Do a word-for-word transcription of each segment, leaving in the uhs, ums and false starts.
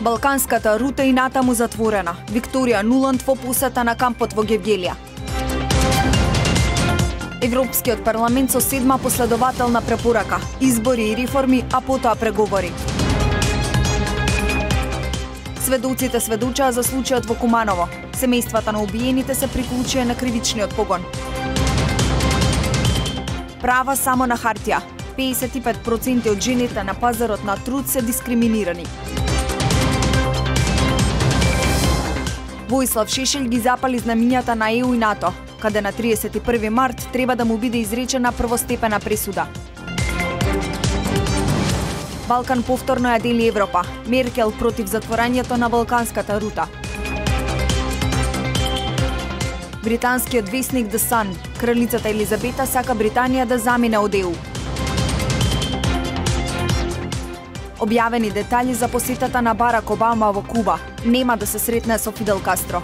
Балканската рута и натаму затворена. Викторија Нуланд во посета на кампот во Гевгелија. Европскиот парламент со седма последователна препорака, избори и реформи, а потоа преговори. Сведоците сведочаа за случајот во Куманово. Семејствата на убиените се приклучија на кривичниот погон. Права само на хартија. педесет и пет проценти од жените на пазарот на труд се дискриминирани. Воислав Шешелј ги запали знамињата на Е У и НАТО, каде на триесет и први март треба да му биде изречена првостепена пресуда. Балкан повторно ја дели Европа. Меркел против затворањето на Балканската рута. Британскиот весник The Sun. Кралицата Елизабета сака Британија да замине од Е У. Објавени детали за посетата на Барак Обама во Куба. Нема да се сретне со Фидел Кастро.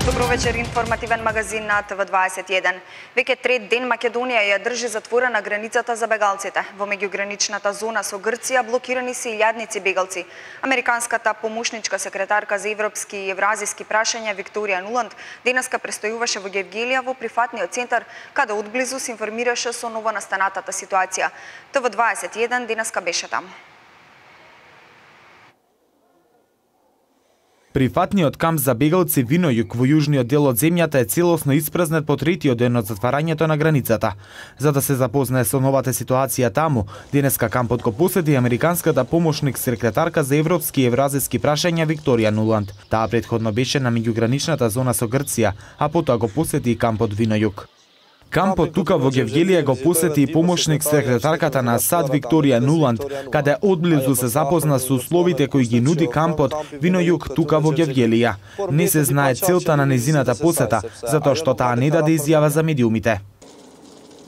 Добро вечер, информативен магазин на Т В дваесет и еден. Веќе трет ден Македонија ја држи затворена границата за бегалците. Во меѓуграничната зона со Грција блокирани се илјадници бегалци. Американската помошничка секретарка за европски и евразиски прашања Викторија Нуланд денеска престојуваше во Гевгелија во прифатниот центар, каде одблизу се информираше со новонастанатата ситуација. Т В дваесет и еден денеска беше таму. Прифатниот камп за бегалци Винојук во јужниот дел од земјата е целосно испразнет по третиот ден од затварањето на границата. За да се запознае со новата ситуација таму, денеска кампот го посети американската помошник секретарка за европски и евразиски прашања Викторија Нуланд. Таа претходно беше на меѓуграничната зона со Грција, а потоа го посети и кампот Винојук. Кампот тука во Гевгелија го посети и помошник секретарката на САД Викторија Нуланд, каде одблизу се запозна со условите кои ги нуди кампот Винојук тука во Гевгелија. Не се знае целта на незината посета, затоа што таа не даде изјава за медиумите.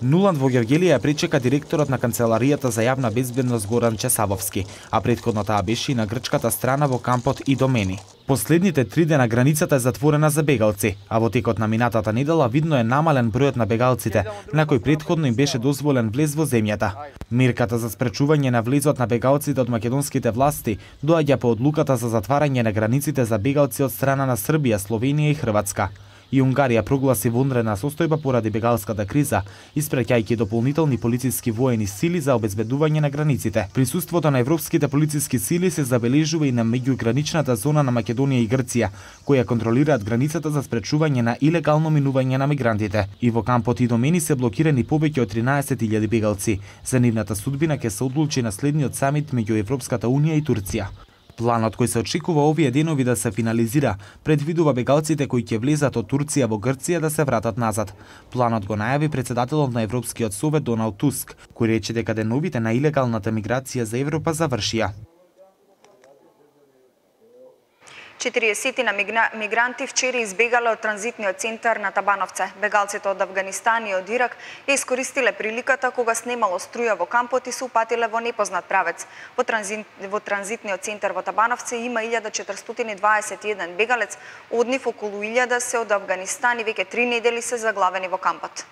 Нуланд во Гевгелија пречека директорот на Канцеларијата за јавна безбедност Горан Чесавовски, а претходно таа беше и на грчката страна во кампот Идомени. Последните три дена границата е затворена за бегалци, а во текот на минатата недела видно е намален бројот на бегалците, на кој претходно им беше дозволен влез во земјата. Мерката за спречување на влезот на бегалците од македонските власти доаѓа по одлуката за затварање на границите за бегалци од страна на Србија, Словенија и Хрватска. И Унгарија прогласи вонредна состојба поради бегалската криза, испраќајќи дополнителни полициски воени сили за обезбедување на границите. Присуството на европските полициски сили се забележува и на меѓуграничната зона на Македонија и Грција, која контролираат границата за спречување на илегално минување на мигрантите. И во кампот Идомени се блокирани повеќе од тринаесет илјади бегалци. За нивната судбина ќе се одлучи на следниот самит меѓу Европската унија и Турција. Планот кој се очекува овие денови да се финализира предвидува бегалците кои ќе влезат од Турција во Грција да се вратат назад. Планот го најави председателот на Европскиот совет Доналд Туск, кој рече дека деновите на илегалната миграција за Европа завршија. четириесет на мигранти вчера избегале од транзитниот центар на Табановце. Бегалците од Авганистан и од Ирак ја искористиле приликата кога снемало струја во кампот и се упатиле во непознат правец. Во, транзит, во транзитниот центар во Табановце има илјада четиристотини и дваесет и еден бегалец, од нив околу илјада се од Авганистан и веќе три недели се заглавени во кампот.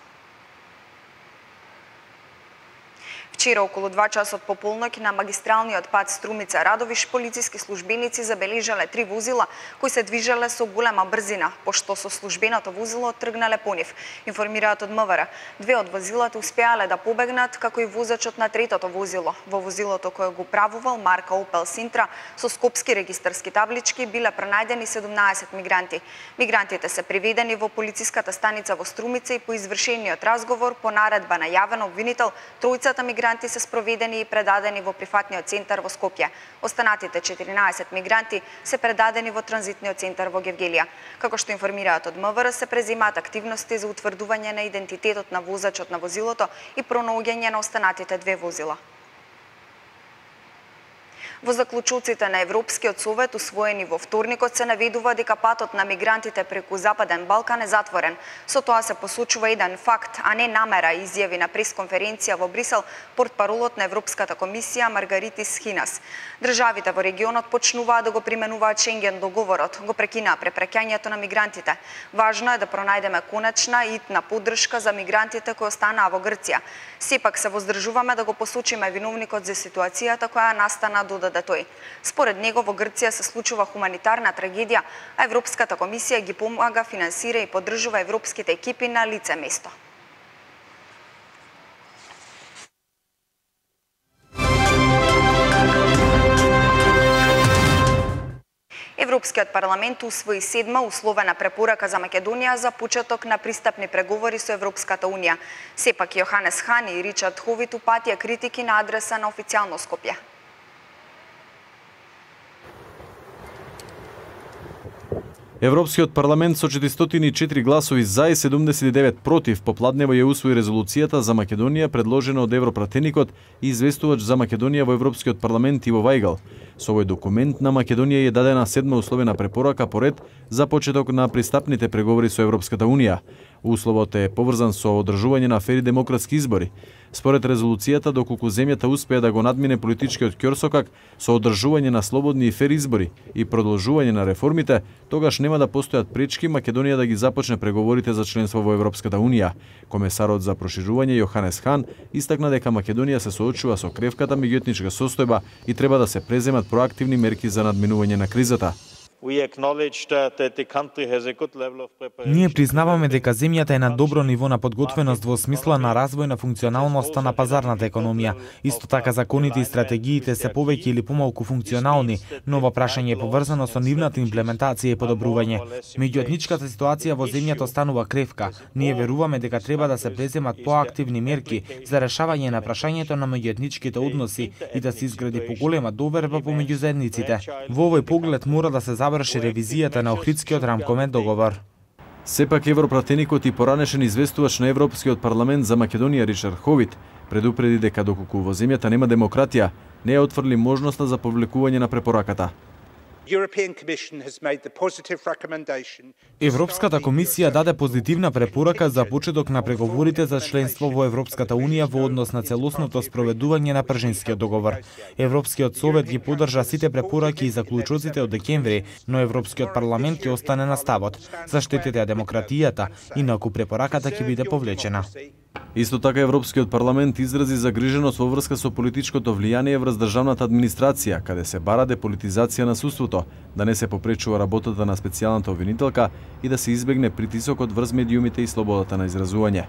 Вчера околу два часот по полноќ на магистралниот пат Струмица Радовиш полициски службеници забележале три возила кои се движеле со голема брзина, пошто со службеното возило тргнале по нив. Информираат од М В Р. Две од возилата успеале да побегнат, како и возачот на третото возило. Во возилото кое го правувал марка Opel Sintra со скопски регистарски таблички биле пронајдени седумнаесет мигранти. Мигрантите се приведени во полициската станица во Струмица и по извршениот разговор по наредба на јавен обвинител тројцата мигранти се спроведени и предадени во прифатниот центар во Скопје. Останатите четиринаесет мигранти се предадени во транзитниот центар во Гевгелија. Како што информираат од М В Р, се преземаат активности за утврдување на идентитетот на возачот на возилото и пронаоѓање на останатите две возила. Во заклучоците на Европскиот совет усвоени во вторникот се наведува дека патот на мигрантите преку Западен Балкан е затворен. Со тоа се посочува еден факт, а не намера, изјави на пресконференција во Брисел портпаролот на Европската комисија Маргаритис Хинас. Државите во регионот почнуваат да го применуваат Шенген договорот, го прекинаа препраќањето на мигрантите. Важно е да пронајдеме конечна и итна поддршка за мигрантите кои останаа во Грција. Сепак се воздржуваме да го посочиме виновникот за ситуацијата која настана, додаде тој. Според него во Грција се случува хуманитарна трагедија, а Европската комисија ги помага, финансира и поддржува европските екипи на лице место. Европскиот парламент усвои седма условена препорака за Македонија за почеток на пристапни преговори со Европската унија. Сепак Јоханес Хан и Ричард Ховит упатија критики на адреса на официјално Скопје. Европскиот парламент со четиристотини и четири гласови за и седумдесет и девет против попладнево ја усвои резолуцијата за Македонија предложена од европратеникот и известувач за Македонија во Европскиот парламент Иво Вајгал. Со овој документ на Македонија е дадена седма условена препорака по ред за почеток на пристапните преговори со Европската унија. Условот е поврзан со одржување на фери демократски избори. Според резолуцијата, доколку земјата успее да го надмине политичкиот ќорсокак со одржување на слободни и фери избори и продолжување на реформите, тогаш нема да постојат пречки Македонија да ги започне преговорите за членство во Европската унија. Комесарот за проширување Јоханес Хан истакна дека Македонија се соочува со кревката меѓуетничка состојба и треба да се преземат проактивни мерки за надминување на кризата. Ние признаваме дека земјата е на добро ниво на подготвеност во смисла на развој на функционалноста на пазарната економија. Исто така законите и стратегиите се повеќе или помалку функционални, но ова прашање е поврзано со нивната имплементација и подобрување. Меѓуетничката ситуација во земјата останува кревка. Ние веруваме дека треба да се преземат поактивни мерки за решавање на прашањето на меѓуетничките односи и да се изгради поголема доверба помеѓу заедниците. Во овој поглед мора да се заврши ревизијата на Охридскиот рамковен договор. Сепак европратеникот и поранешен известувач на Европскиот парламент за Македонија Ричард Ховит предупреди дека доколку во земјата нема демократија, не ја отфрли можноста за повлекување на препораката. Европската комисија даде позитивна препорака за почеток на преговорите за членство во Европската унија во однос на целосното спроведување на Пржинскиот договор. Европскиот совет ги поддржа сите препораки и заклучоците од декември, но Европскиот парламент ќе остане на ставот. Заштитите демократијата, инаку препораката ќе биде повлечена. Исто така Европскиот парламент изрази загриженост во врска со политичкото влијание врз државната администрација, каде се бара деполитизација на судството, да не се попречува работата на специјалната обвинителка и да се избегне притисокот врз медиумите и слободата на изразување.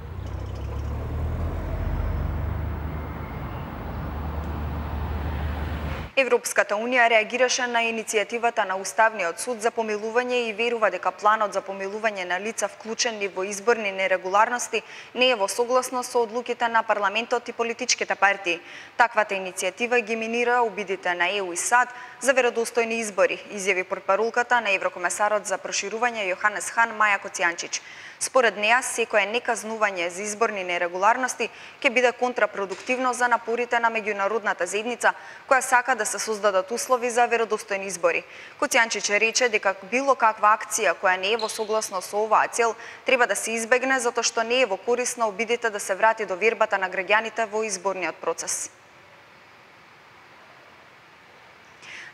Европската унија реагираше на иницијативата на Уставниот суд за помилување и верува дека планот за помилување на лица вклучени во изборни нерегуларности не е во согласност со одлуките на парламентот и политичките партии. Таквата иницијатива ги минира обидите на Е У и САД за веродостојни избори, изјави портпаролката на еврокомесарот за проширување Јоханес Хан Маја Коцијанчич. Според неа, секое неказнување за изборни нерегуларности ќе биде контрапродуктивно за напорите на меѓународната заедница, која сака да се создадат услови за веродостојни избори. Коцијанчич рече дека било каква акција која не е во согласност со оваа цел треба да се избегне затоа што не е во корист на обидите да се врати до вербата на граѓаните во изборниот процес.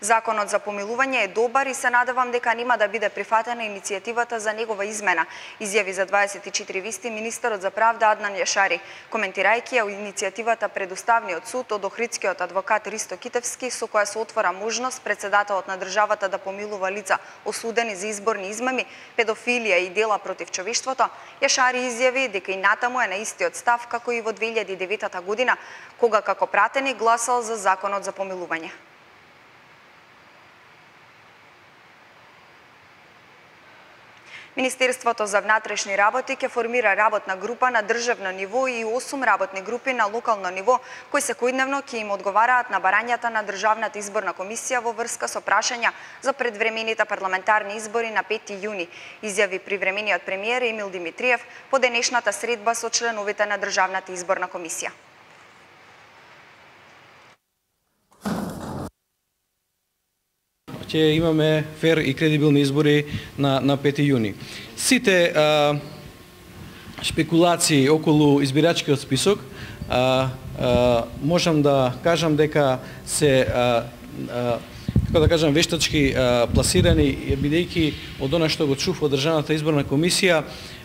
Законот за помилување е добар и се надевам дека нема да биде прифатена иницијативата за негова измена, изјави за дваесет и четири вести министерот за правда Аднан Јашари, коментирајќи ја иницијативата пред Уставниот суд од охридскиот адвокат Ристо Китевски, со која се отвора можност председателот на државата да помилува лица осудени за изборни измами, педофилија и дела против човештвото. Јашари изјави дека и натаму е на истиот став како и во две илјади и девета година, кога како пратеник гласал за законот за помилување. Министерството за внатрешни работи ќе формира работна група на државно ниво и осум работни групи на локално ниво, кои секојдневно ќе им одговараат на барањата на Државната изборна комисија во врска со прашања за предвремените парламентарни избори на пети јуни, изјави привремениот премиер Емил Димитриев по денешната средба со членовите на Државната изборна комисија. ќе имаме фер и кредибилни избори на на пети јуни. Сите а, шпекулации околу избирачкиот список, а, а, можам да кажам дека се а, а, како да кажам вештачки а, пласирани, бидејќи од она што го чув од Државната изборна комисија,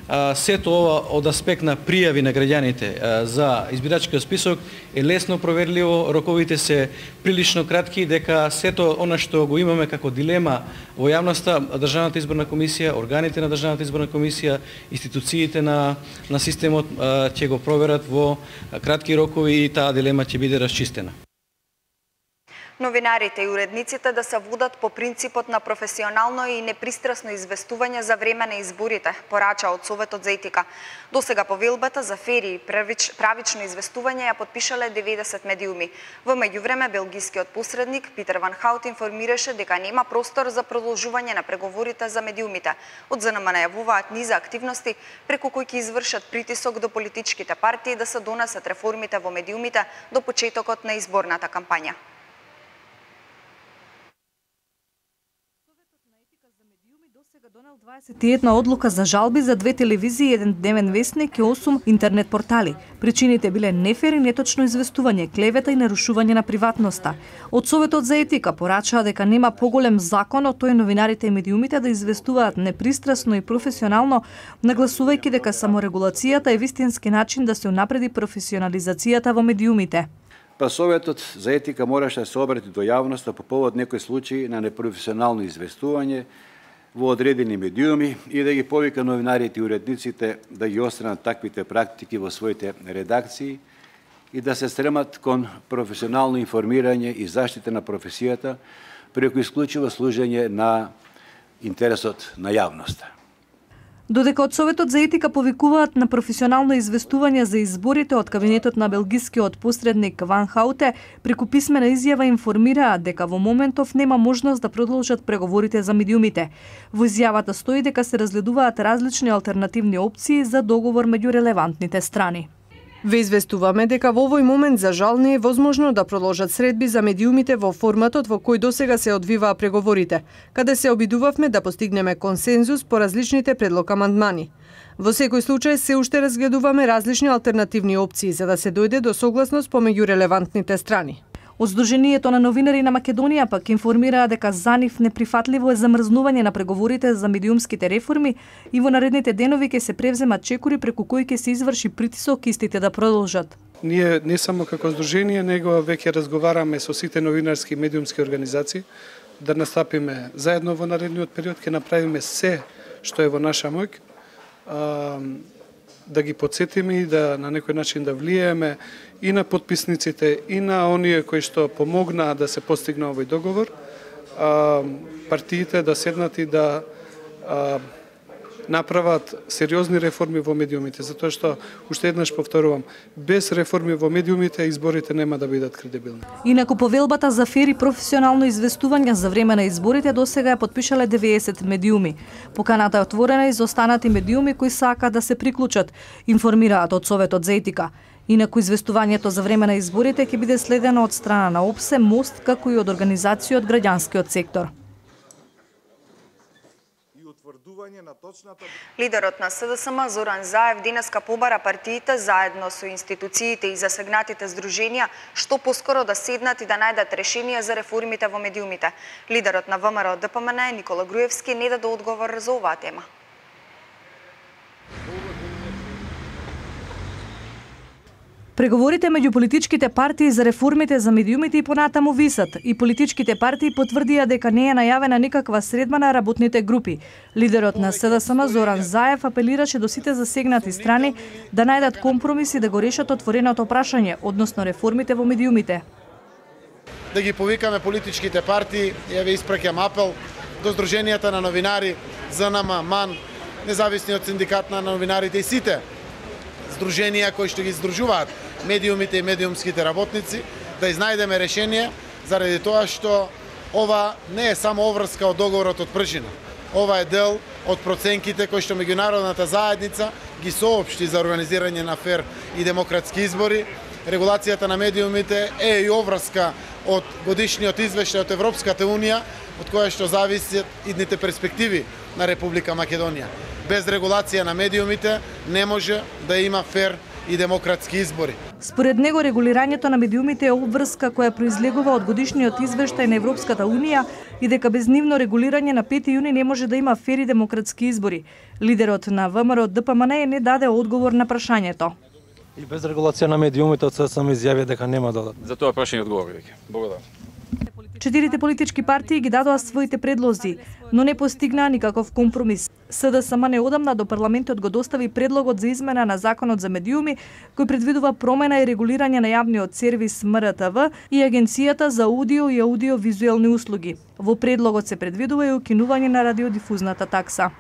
а, сето ова од аспект на пријави на граѓаните а, за избирачкиот список е лесно проверливо, роковите се прилично кратки, дека сето она што го имаме како дилема во јавноста, Државната изборна комисија, органите на Државната изборна комисија, институциите на на системот а, ќе го проверат во кратки рокови и таа дилема ќе биде расчистена. Новинарите и уредниците да се водат по принципот на професионално и непристрасно известување за време на изборите, порача од Советот за етика. Досега повелбата за фери и правично известување ја подпишале деветдесет медиуми. Во меѓувреме, белгискиот посредник Питер Ван Хаут информираше дека нема простор за продолжување на преговорите за медиумите. Од З Н М најавуваат низа активности преку кои ќе извршат притисок до политичките партии да се донесат реформите во медиумите до почетокот на изборната кампања. Донел дваесет и една одлука за жалби за две телевизии, еден дневен весник и осум интернет портали. Причините биле нефер и неточно известување, клевета и нарушување на приватноста. Од Советот за етика порачаа дека нема поголем закон од тој новинарите и медиумите да известуваат непристрасно и професионално, нагласувајќи дека саморегулацијата е вистински начин да се унапреди професионализацијата во медиумите. Па Советот за етика мораше да се обрати до јавноста по повод некои случаи на непрофесионално известување во одредени медиуми и да ги повика новинарите и уредниците да ги остранат таквите практики во своите редакции и да се стремат кон професионално информирање и заштита на професијата преку исклучиво служење на интересот на јавноста. Додека од Советот за етика повикуваат на професионално известување за изборите, од кабинетот на белгискиот посредник Ван Хауте преку писмена изјава информираат дека во моментов нема можност да продолжат преговорите за медиумите. Во изјавата стои дека се разгледуваат различни алтернативни опции за договор меѓу релевантните страни. Ве известуваме дека во овој момент за жал не е возможно да продолжат средби за медиумите во форматот во кој досега се одвиваа преговорите, каде се обидувавме да постигнеме консензус по различните предлог амандмани. Во секој случај се уште разгледуваме различни алтернативни опции за да се дојде до согласност помеѓу релевантните страни. Од Сдруженијето на новинари на Македонија пак информираа дека за нив неприфатливо е замрзнување на преговорите за медиумските реформи и во наредните денови ќе се превземат чекори преку кои ќе се изврши притисок истите да продолжат. Ние не само како Сдружение, него веќе разговараме со сите новинарски и медиумски организации да настапиме заедно во наредниот период, ќе направиме се што е во наша моќ, да ги подсетиме и да на некој начин да влиееме и на подписниците и на оние кои што помогнаа да се постигне овој договор, а, партиите да седнат и да а, направат сериозни реформи во медиумите, затоа што, уште еднаш повторувам, без реформи во медиумите изборите нема да бидат кредибилни. Инаку повелбата за фер и професионално известување за време на изборите досега ја подпишале деветдесет медиуми. Поканата е отворена и за останати медиуми кои сакаат да се приклучат, информираат од Советот за етика. Инаку известувањето за време на изборите ќе биде следено од страна на ОПСЕ, МОСТ, како и од организации од граѓанскиот сектор. Лидерот на С Д С М Зоран Заев денеска побара партиите заедно со институциите и засегнатите здруженија што поскоро да седнат и да најдат решение за реформите во медиумите. Лидерот на В М Р Д П М Н Никола Груевски не даде одговор за оваа тема. Преговорите меѓу политичките партии за реформите за медиумите и понатаму висат и политичките партии потврдија дека не е најавена никаква средба на работните групи. Лидерот на С Д С М Зоран Заев апелираше до сите засегнати страни да најдат компромис и да го решат отвореното прашање, односно реформите во медиумите. Да ги повикаме политичките партии, ја ве испраќам апел до Сдруженијата на новинари, З Н М, МАН, независниот синдикат на новинарите и сите здруженија кои што ги здружуваат медиумите и медиумските работници, да изнајдеме решение заради тоа што ова не е само обврска од договорот од Пршина. Ова е дел од проценките кои што меѓународната заедница ги соопшти за организирање на фер и демократски избори регулацијата на медиумите е и обврска од годишниот извештај од Европската Унија, од која што зависат идните перспективи на Република Македонија. Без регулација на медиумите не може да има фер и демократски избори. Според него, регулирањето на медиумите е обврска која произлегува од годишниот извештај на Европската Унија и дека без нивно регулирање на пети јуни не може да има фери демократски избори. Лидерот на ВМРО Д П М Н не даде одговор на прашањето. И без регулација на медиумите од се сам изјави дека нема да дадат. За тоа прашање одговори веќе. Благодарам. Четирите политички партии ги дадоа своите предлози, но не постигнаа никаков компромис. С Д С М неодамна до парламентот го достави предлогот за измена на законот за медиуми, кој предвидува промена и регулирање на јавниот сервис М Р Т В и Агенцијата за аудио и аудиовизуелни услуги. Во предлогот се предвидува и укинување на радиодифузната такса.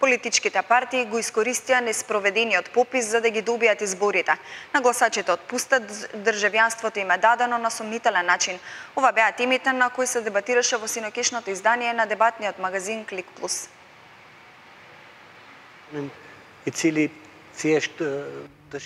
Политичките партии го искористија неспроведениот попис за да ги добијат изборите. На гласачите од Пустат државјанството им е дадено на сомнителен начин. Ова беа темите на кои се дебатираше во синокешното издание на дебатниот магазин Клик Плюс. И цели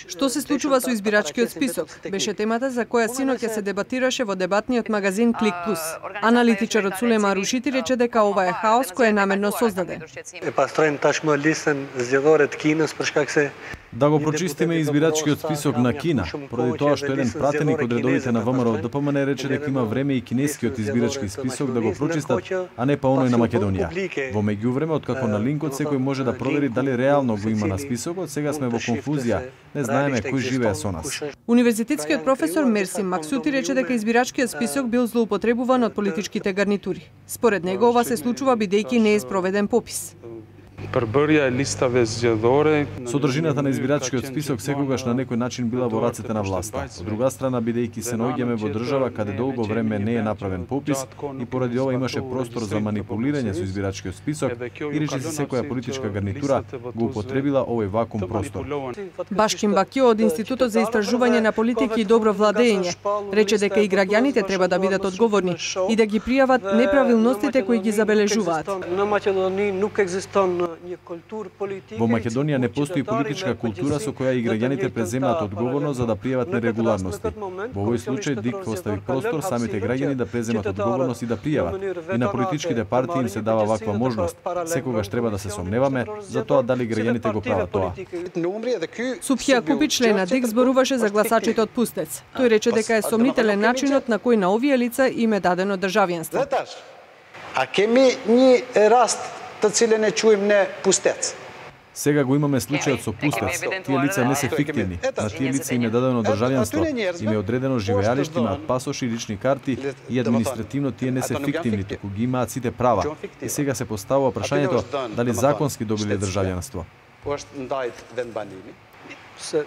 Што се случува со избирачкиот список? Беше темата за која синоќа се дебатираше во дебатниот магазин Клик Плюс. Аналитичарот Сулема Рушити рече дека ова е хаос кој е намерно создаден. Е па строим ташмо листен зјадорет кинес прашкак се Да го прочистиме избирачкиот список на Кина, поради тоа што еден пратеник од редовите на ВМРО Д П М Н рече дека има време и кинескиот избирачки список да го прочистат, а не па оној на Македонија. Во меѓувреме, откако на линкот секој може да провери дали реално го има на списокот, сега сме во конфузија, не знаеме кој живее со нас. Универзитетскиот професор Мерси Максути рече дека избирачкиот список бил злоупотребуван од политичките гарнитури. Според него ова се случува бидејќи не е спроведен попис. Содржината на избирачкиот список секогаш на некој начин била во рацете на власта. Од друга страна, бидејќи се наоѓаме во држава каде долго време не е направен попис и поради ова имаше простор за манипулирање со избирачкиот список и речиси секоја политичка гарнитура го употребила овој вакуум простор. Башкин Бакио од Институтот за истражување на политики и добро владење рече дека и граѓаните треба да бидат одговорни и да ги пријават неправилностите кои ги забележуваат. Во Македонија не постои политичка култура со која и граѓаните преземаат одговорност за да пријават нерегуларности. Во овој случај ДИК остави простор самите граѓани да преземат одговорност и да пријават. И на политичките партии им се дава ваква можност. Секогаш треба да се сомневаме за тоа дали граѓаните го прават тоа. Супхија Купи, член на ДИК, зборуваше за гласачите од Пустец. Тој рече дека е сомнителен начинот на кој на овие лица им е дадено државјанство. А ке ми ни раст та цели не чуем не Пустец. Сега го имаме случајот со Пустец. Тие лица не се фиктивни. На тие лица им е дадено државјанство, им е одредено живеалиште, имаат пасоши, лични карти и административно тие не се фиктивни, туку ги имаат сите права. И сега се поставува прашањето дали законски добиле државјанство.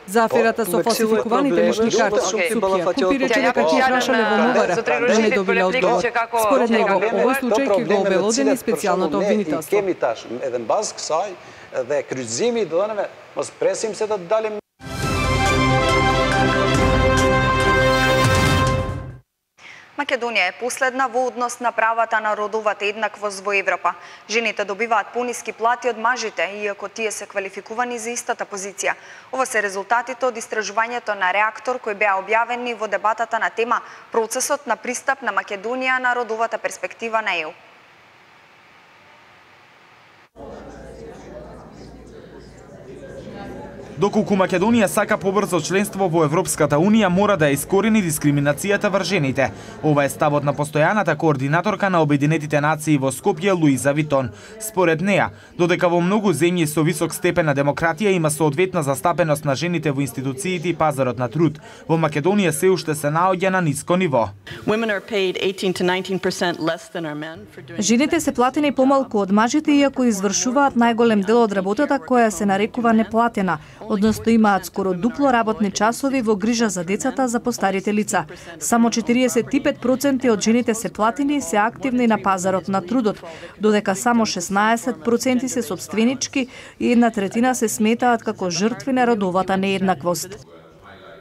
За аферата со фалсификуваните лични карти, Супхија Купи рече дека ќе прашале во МВР, но не добиле одговор. Според него, овој случај ќе го обелодени специјалното обвинителство. Dhe kryqëzimi i dhënave, mos presim se do të dalim. Македонија е последна во однос на правата на родовата еднаквост во Европа. Жените добиваат пониски плати од мажите, иако тие се квалификувани за истата позиција. Ова се резултатите од истражувањето на Реактор кои беа објавени во дебатата на тема Процесот на пристап на Македонија на родовата перспектива на Е У. Доколку Македонија сака побрзо членство во Европската Унија, мора да ја искорени дискриминацијата врз жените. Ова е ставот на постојаната координаторка на Обединетите нации во Скопје, Луиза Витон. Според неа, додека во многу земји со висок степен на демократија има соодветна застапеност на жените во институциите и пазарот на труд, во Македонија се уште се наоѓа на ниско ниво. Жените се платени помалку од мажите, иако извршуваат најголем дел од работата која се нарекува неплатена, односно имаат скоро дупло работни часови во грижа за децата за постарите лица. Само четириесет и пет проценти од жените се платени и се активни на пазарот на трудот, додека само шеснаесет проценти се сопственички и една третина се сметаат како жртви на родовата нееднаквост.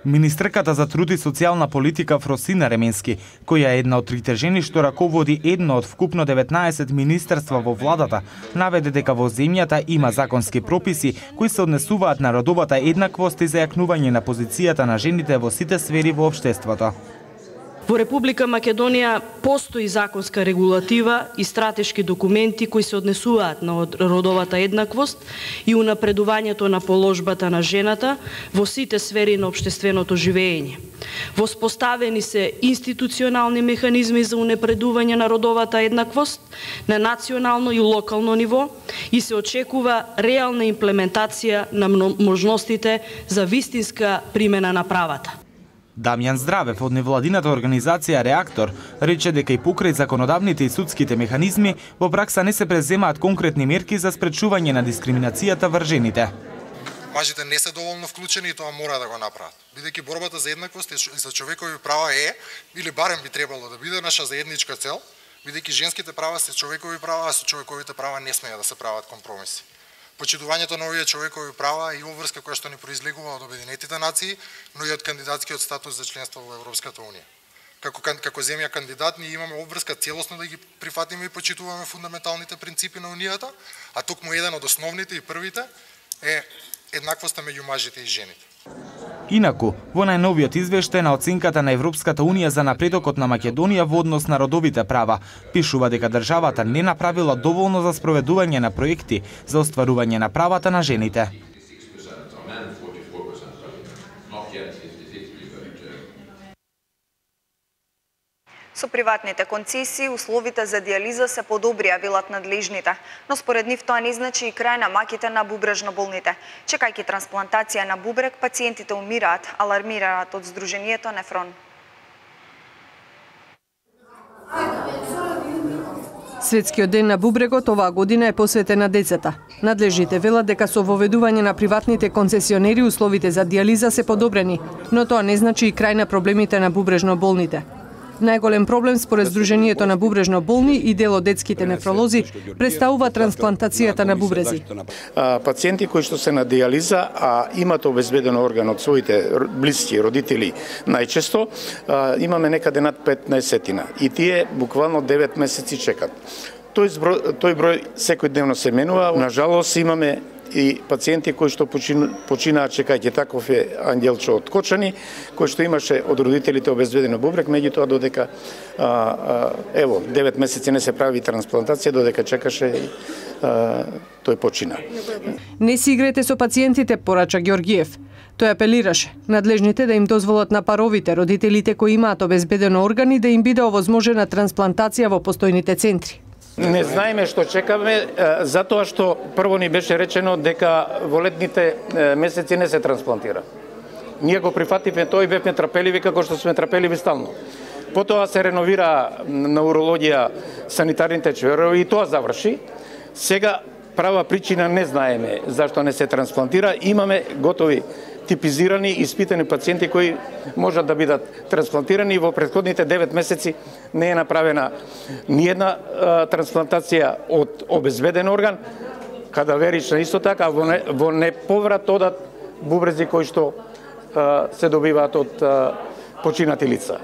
Министерката за труд и социјална политика Фросина Ременски, која е една од трите жени што раководи едно од вкупно деветнаесет министерства во владата, наведе дека во земјата има законски прописи кои се однесуваат на родовата еднаквост и зајакнување на позицијата на жените во сите сфери во општеството. Во Република Македонија постои законска регулатива и стратешки документи кои се однесуваат на родовата еднаквост и унапредувањето на положбата на жената во сите сфери на општественото живење. Воспоставени се институционални механизми за унапредување на родовата еднаквост на национално и локално ниво и се очекува реална имплементација на можностите за вистинска примена на правата. Дамјан Здравев од невладината организација Реактор рече дека и покрај законодавните и судските механизми во пракса не се преземаат конкретни мерки за спречување на дискриминацијата врз жените. Мажите не се доволно вклучени и тоа мора да го направат. Бидејќи борбата за еднаквост и за човекови права е, или барем би требало да биде наша заедничка цел, бидејќи женските права се човекови права, а со човековите права не смеја да се прават компромиси. Почитувањето на овие човекови права и обврска која што ни произлегува од Обединетите нации, но и од кандидатскиот статус за членство во Европската унија. Како како земја кандидат ние имаме обврска целосно да ги прифатиме и почитуваме фундаменталните принципи на унијата, а токму еден од основните и првите е еднаквоста меѓу мажите и жените. Инаку, во најновиот извештај на оценката на Европската унија за напредокот на Македонија во однос на родовите права, пишува дека државата не направила доволно за спроведување на проекти за остварување на правата на жените. Со приватните концесии, условите за диализа се подобрија, велат надлежните, но според нив тоа не значи и крај на маките на бубрежно болните. Чекајќи трансплантација на бубрек, пациентите умираат, алармираат од Сдруженијето Нефрон. Светскиот ден на бубрегот оваа година е посветен на децата. Надлежните велат дека со воведување на приватните концесионери условите за диализа се подобрени, но тоа не значи и крај на проблемите на бубрежно болните. Најголем проблем според Сдруженијето на бубрежно болни и дел од детските нефролози представува трансплантацијата на бубрези. Пациенти кои што се на диализа, а имат обезбеден орган од своите блиски, родители, најчесто имаме некаде над петнаесетина и тие буквално девет месеци чекат. Тој број, тој број секојдневно се менува. На жалост имаме и пациенти кои што починаат чекајќи, таков е Ангелчо од Кочани, кој што имаше од родителите обезбедено бубрек, меѓутоа додека а, а, ево девет месеци не се прави трансплантација, додека чекаше а, тој почина. Не си игрете со пациентите, порача Ѓоргиев. Тој апелираше надлежните да им дозволат на паровите, родителите кои имаат обезбедено органи, да им биде овозможена трансплантација во постојните центри. Не знаеме што чекаме, затоа што прво ни беше речено дека во летните месеци не се трансплантира. Ние го прифативме тоа и бевме трапеливи како што сме трапеливи стално. Потоа се реновира на урологија санитарните чверови и тоа заврши. Сега права причина не знаеме зашто не се трансплантира. Имаме готови типизирани и испитани пациенти кои можат да бидат трансплантирани. Во претходните девет месеци не е направена ниедна трансплантација од обезбеден орган, кадаверична исто така, во, не, во неповрат одат бубрези кои што а, се добиваат од а, починати лица.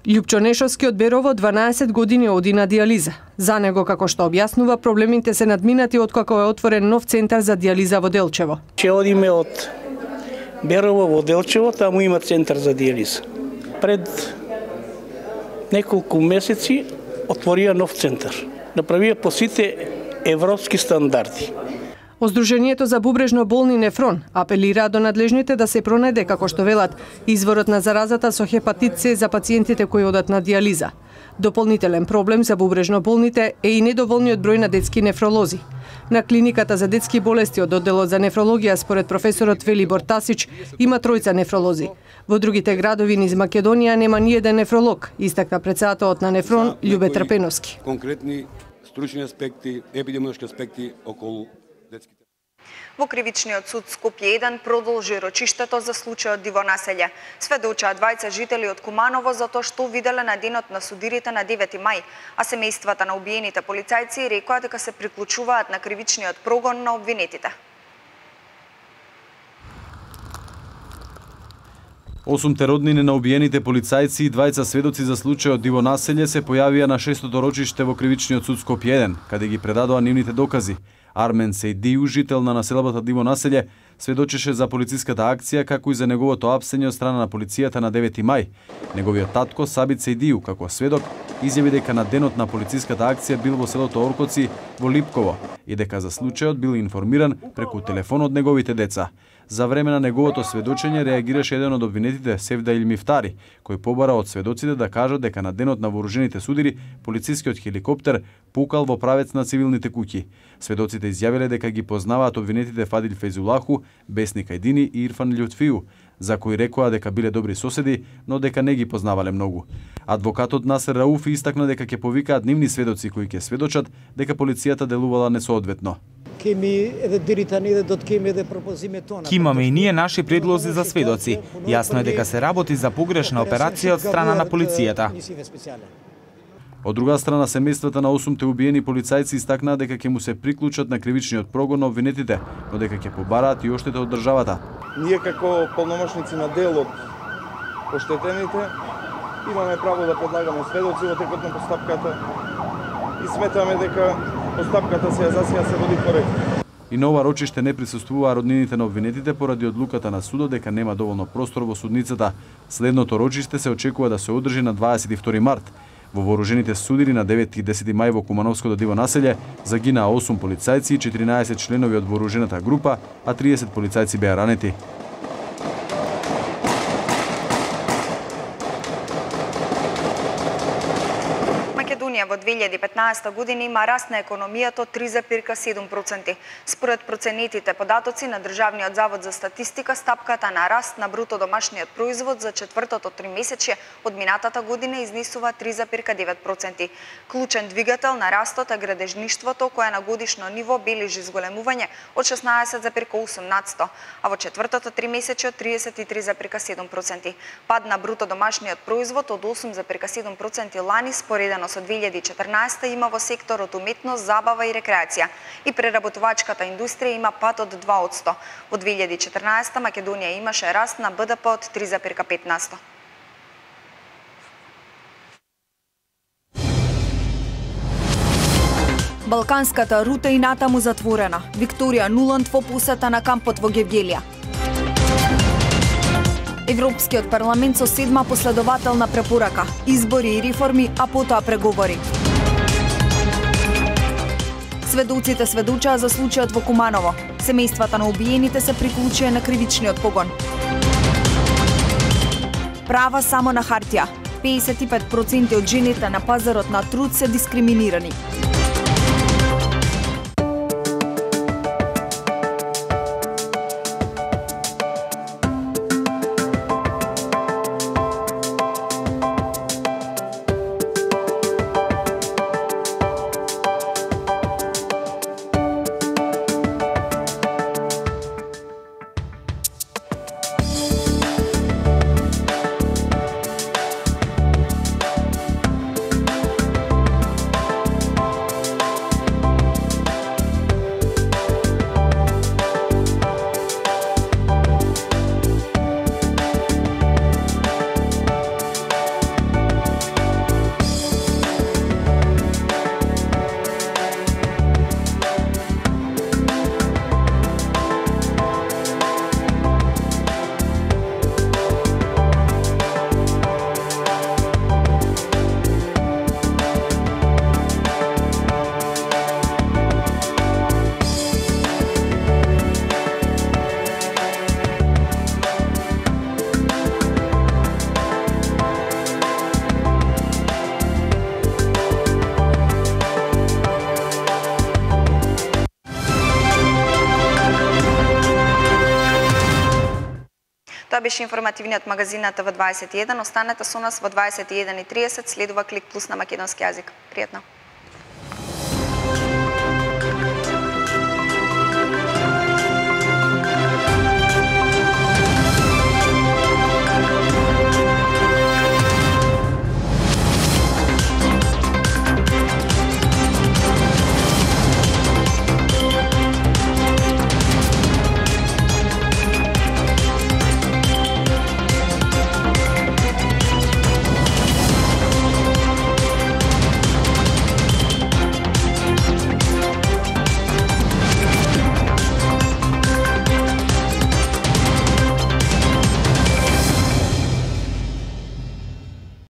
Љупчо Нешовски од Берово дванаесет години оди на диализа. За него, како што објаснува, проблемите се надминати откако е отворен нов центар за диализа во Делчево. Че одиме од Берово во Делчево, таму има центар за диализа. Пред неколку месеци отворија нов центар. Направија по сите европски стандарди. Сдруженијето за бубрежно болни Нефрон апелира до надлежните да се пронајде, како што велат, изворот на заразата со хепатит С за пациентите кои одат на диализа. Дополнителен проблем за бубрежно болните е и недоволниот број на детски нефролози. На клиниката за детски болести од одделот за нефрологија, според професорот Велибор Тасич, има тројца нефролози. Во другите градови низ Македонија нема ни еден нефролог, истакна претседателот на Нефрон Љубе Трпеновски. Конкретни стручни аспекти, епидемиолошки аспекти околу детските. Во Кривичниот суд Скопје еден продолжи рочиштето за случајот Дивонаселје. Сведочаа двајца жители од Куманово за тоа што виделе на денот на судирите на девети мај, а семејствата на убиените полицајци рекоа дека се приклучуваат на кривичниот прогон на обвинетите. Осумте роднини на убиените полицајци и двајца сведоци за случајот диво населје се појавија на шестото рочиште во кривичниот суд Скопје еден, каде ги предадоа нивните докази. Армен Сејдију, жител на населбата Диво населје, сведочеше за полициската акција како и за неговото апсење од страна на полицијата на девети мај. Неговиот татко Сабит Сејдију, како сведок, изјави дека на денот на полициската акција бил во селото Оркоци во Липково и дека за случајот бил информиран преку телефон од неговите деца. За време на неговото сведочење реагираше еден од обвинетите, Севда Илмифтари, кој побара од сведоците да кажат дека на денот на вооружените судири полицискиот хеликоптер пукал во правец на цивилните куќи. Сведоците изјавиле дека ги познаваат обвинетите Фадил Фейзулаху, Бесник Ајдини и Ирфан Љутфију, за кои рекоа дека биле добри соседи, но дека не ги познавале многу. Адвокатот Насер Рауфи истакна дека ќе повикаат нивни сведоци кои ќе сведочат дека полицијата делувала несоодветно. Ки имаме и ние наши предлози за сведоци. Јасно е дека се работи за погрешна операција од страна на полицијата. Од друга страна, семејствата на осумте убиени полицајци истакнаа дека ќе му се приклучат на кривичниот прогон на обвинетите, но дека ќе побараат и оштета од државата. Ние како полномошници на дел од оштетените имаме право да предлагаме сведоци во текот на постапката и сметаме дека постапката се за сега се води коректно. И на ова рочиште не присуствуваа роднините на обвинетите поради одлуката на судот дека нема доволно простор во судницата. Следното рочиште се очекува да се одржи на дваесет и втори март. Во вооружените судири на девети и десети мај во Кумановското Диво населје загинаа осум полицајци и четиринаесет членови од вооружената група, а триесет полицајци беа ранети. Македонија во две илјади и петнаесета година има раст на економијата од три зарез и седум проценти. Според проценетите податоци на Државниот завод за статистика, стапката на раст на бруто домашниот производ за четвртото тримесечје од минатата година изнесува три зарез и девет проценти. Клучен двигател на растот е градежништвото, кое на годишно ниво бележи зголемување од шеснаесет зарез и осум надцето, а во четвртото тримесечје од тридесет и три зарез и седум проценти. Пад на бруто домашниот производ од осум зарез и седум проценти лани споредено со две илјади и четрнаесета има во секторот уметност, забава и рекреација. И преработувачката индустрија има пад од два одсто. Во две илјади и четрнаесета Македонија имаше раст на Б Д П од три зарез и пет нацето. Балканската рута и натаму затворена. Викторија Нуланд во посета на кампот во Гевгелија. Европскиот парламент со седма последователна препорака, избори и реформи, а потоа преговори. Сведоците сведочаа за случајот во Куманово. Семејствата на убиените се приклучија на кривичниот погон. Права само на хартија. педесет и пет проценти од жените на пазарот на труд се дискриминирани. Тоа беше информативниот магазин на Т В дваесет и еден. Останете со нас во дваесет и еден и тридесет, следува Клик Плюс на македонски јазик. Пријатно!